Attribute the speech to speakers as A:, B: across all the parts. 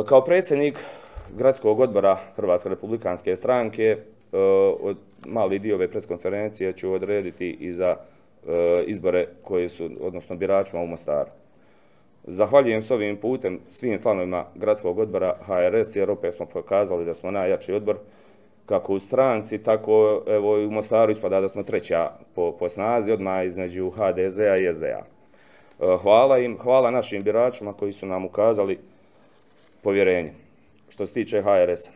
A: Kao predsjednik Gradskog odbora Hrvatske republikanske stranke, mali dio ove preskonferencije ću odrediti i za izbore koji su, odnosno biračima u Mostaru. Zahvaljujem s ovim putem svim članovima Gradskog odbora HRS, jer opet smo pokazali da smo najjači odbor, kako u stranci, tako evo i u Mostaru ispada da smo treća po snazi, odmah između HDZ-a i SDA. Hvala im, hvala našim biračima koji su nam ukazali povjerenje. Što se tiče HRS-a,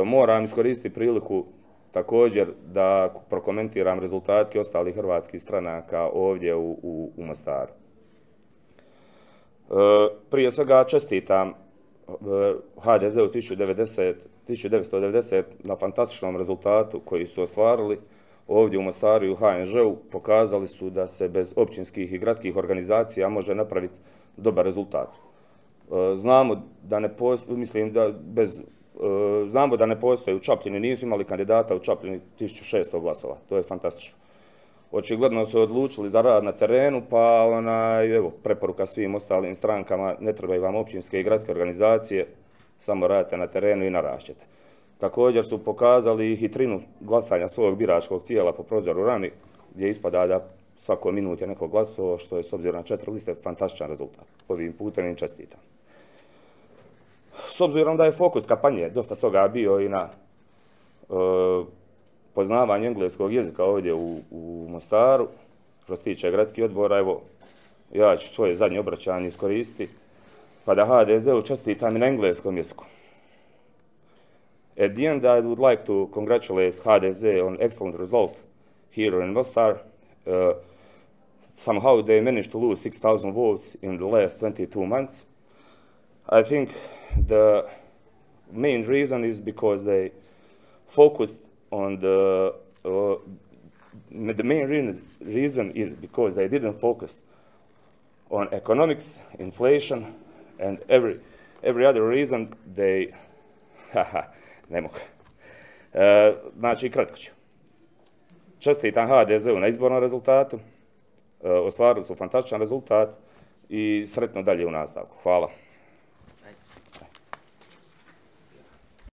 A: moram iskoristiti priliku također da prokomentiram rezultate ostalih hrvatskih stranaka ovdje u Mostaru. Prije svega čestitam HDZ-u 1990 na fantastičnom rezultatu koji su ostvarili ovdje u Mostaru i u HNŽ-u. Pokazali su da se bez općinskih i gradskih organizacija može napraviti dobar rezultat. Znamo da ne postoje u Čapljini, nisu imali kandidata u Čapljini 1600 glasova. To je fantastično. Očigledno su odlučili za rad na terenu, pa evo, preporuka svim ostalim strankama, ne trebaju vam općinske i gradske organizacije, samo radite na terenu i narašćete. Također su pokazali hitrinu glasanja svog biračkog tijela po prozoru Rami, gdje ispada da svako minut je neko glasovao, što je s obzirom na 4 liste fantastičan rezultat. Ovim putem im čestitam. S obzirom da je fokus kampanje dosta toga bio i na poznavanju engleskog jezika ovdje u Mostaru, što se tiče gradskih odbora, evo, ja ću svoje zadnje obraćanje iskoristiti, pa da HDZ-u čestitam i na engleskom jeziku. At the end, I would like to congratulate HDZ on excellent result here in Mostar. Somehow they managed to lose 6,000 votes in the last 22 months. I think the main reason is because they focused on the main reason is because they didn't focus on economics, inflation, and every other reason they ne mogu. Znači, kratko ću. Čestitam HDZ-u na izbornom rezultatu, ostvarili su fantastičan rezultat i sretno dalje u nastavku. Hvala.